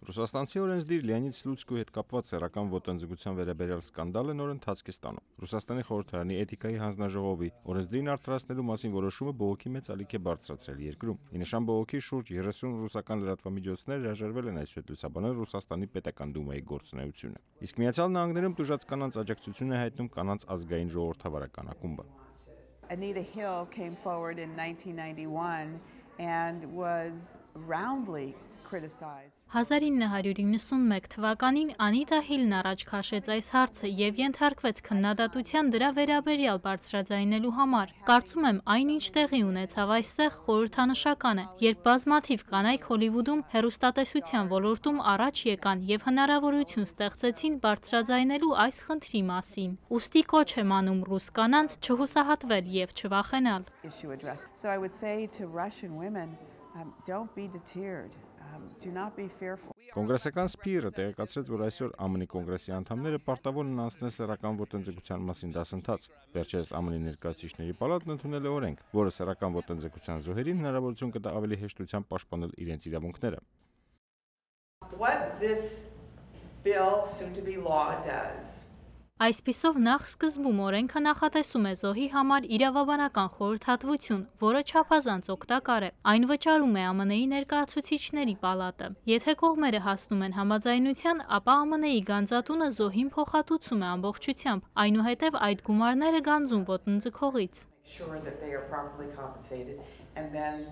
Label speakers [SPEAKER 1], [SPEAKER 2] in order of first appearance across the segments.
[SPEAKER 1] Ռուսաստանցի օրենսդիր Լեոնիդ Սլուցկուի հետ կապված սեռական ոտնձգության վերաբերյալ սկանդալը նոր ընթացք է ստանում։ Ռուսաստանի խորհրդարանի էթիկայի հանձնաժողովի օրենսդիրն արդարացնելու մասին որոշումը բողոքի մեծ ալիք է բարձրացրել երկրում։ Ի նշան բողոքի շուրջ 30 ռուսական լրատվամիջոցներ հրաժարվել են այսուհետ լուսաբանել Ռուսաստանի պետական դումայի գործունեությունը։ Իսկ Միացյալ Նահանգներում տուժած կանանց աջակցություն է հայտնում կանանց ազգային ժողովրդավարական ակումբը։
[SPEAKER 2] Anita Hill came forward in 1991 and was roundly criticized.
[SPEAKER 3] 1991 թվականին Անիտա Հիլն առաջ քաշեց այս հարցը եւ ենթարկվեց քննադատության դրա վերաբերյալ բարձրաձայնելու համար։ Կարծում եմ, այնինչ տեղի ունեցավ այստեղ խորհրդանշական է, երբ բազմաթիվ կանայք Հոլիվուդում հեռուստատեսության ոլորտում առաջ եկան եւ հնարավորություն ստեղծեցին բարձրաձայնելու այս խնդրի մասին։ Ուստի կոչ եմ անում ռուս կանանց չհուսահատվել եւ չվախենալ։
[SPEAKER 2] So I would say to Russian women, don't be deterred. Do not be fearful.
[SPEAKER 1] Կոնգրեսական Սփիրը տեղեկացրեց, որ այսօր ԱՄՆ-ի կոնգրեսի անդամները պարտավոր են անցնել սեռական ոտնձգության մասին դասընթաց։ Վերջերս ԱՄՆ-ի ներկայացուցիչների պալատն ընդունել է օրենք, որը սեռական ոտնձգության զոհերին հնարավորություն կտա ավելի հեշտությամբ պաշտպանել իրենց իրավունքները։
[SPEAKER 4] What this bill soon to be law does.
[SPEAKER 3] Այսպիսով նախ սկզբում օրենքը նախատեսում է զոհի համար իրավաբանական խորհրդատվություն, որը չափազանց օգտակար է։ Այն վճարում է ԱՄՆ-ի ներկայացուցիչների պալատը։ Եթե կողմերը հասնում են համաձայնության, ապա ԱՄՆ-ի գանձատունը զոհին փոխհատուցում է ամբողջությամբ, այնուհետև այդ գումարները գանձում ոտնձգողից։
[SPEAKER 4] Sure that they are properly compensated and then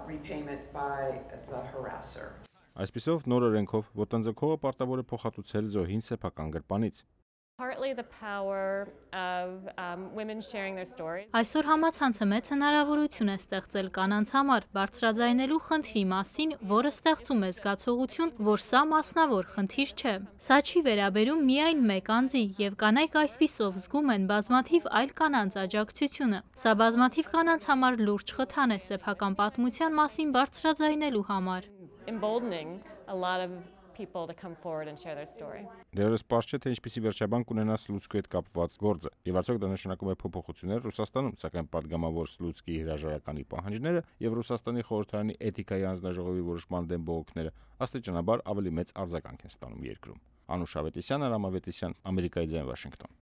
[SPEAKER 4] repayment by the harasser.
[SPEAKER 1] Այսպիսով նոր օրենքով ոտնձգողը պարտավոր է փոխհատուցել զոհին սեփական գրպանից։
[SPEAKER 5] Partly the power of women sharing their stories.
[SPEAKER 3] Այսօր համացանցը մեծ հնարավորություն է ստեղծել կանանց համար բարձրաձայնելու խնդրի մասին, որը ստեղծում է զգացողություն, որ սա մասնավոր խնդիր չէ։ Սա չի վերաբերում միայն մեկ անձի, եւ կանայք այսպիսով զգում են բազմաթիվ այլ կանանց աջակցությունը։ Սա բազմաթիվ կանանց համար լուրջ խթան է սեփական պատմության մասին բարձրաձայնելու համար։
[SPEAKER 5] Emboldening a lot of people to come forward and share their story.
[SPEAKER 1] Դեռևս պարզ չէ, թե ինչպիսի վերջաբան կունենա Սլուցկուի հետ կապված գործը, եւ արդյոք դա նշանակում է փոփոխություններ Ռուսաստանում, սակայն պատգամավոր Սլուցկիի հրաժարականի պահանջները եւ Ռուսաստանի խորհրդարանի էթիկայի հանձնաժողովի որոշման դեմ բողոքները աստիճանաբար ավելի մեծ արձագանք են ստանում երկրում։ Անուշ Ավետիսյան, Արամ Ավետիսյան, Ամերիկայի ձայն, Վաշինգտոն։